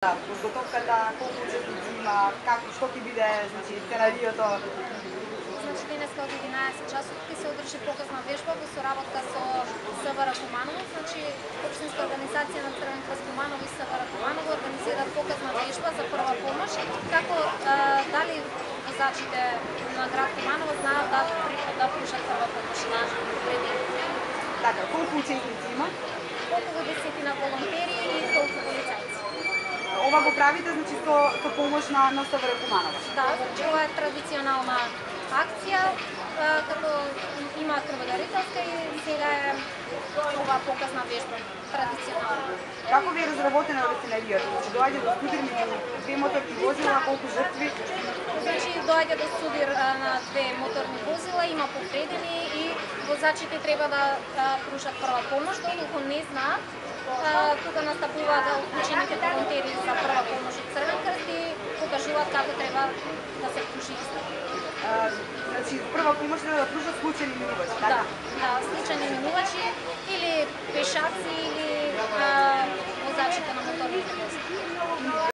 Подготовката, колку учесници има, како, што ќе биде, значи, сценариото? Значи, денеска од 11 часот ќе се одржи показна вежба во соработка со СВР Куманово, значи општинска организација на Црвен крст Куманово и СВР Куманово организираат показна вежба за прва помош, како дали возачите на град Куманово знаат да пружат прва помош на вредените. Така, колку учесници има? Околу 10 на волонтери и толку полицајци. Ова го правите, значи, со помош на СВР Куманово? Да, значи ова е традиционална акција, како има крводарителска и сега е ова показна вежба, традиционална. Како ви е разработено овој сценаријото? Значи, доаѓа до судир меѓу две моторни возила, колку жртви? Значи, доаѓа до судир на две моторни возила, има повредени и возачите треба да пружат прва помош, доколку не знаат. Тука настапуваат уклучените волонтери за прва помош од Црвен крст и покажуваат како треба да се пружи иста. Значи, прва помош треба да пружат случајни минувачи, така? Да, случајни минувачи или пешаци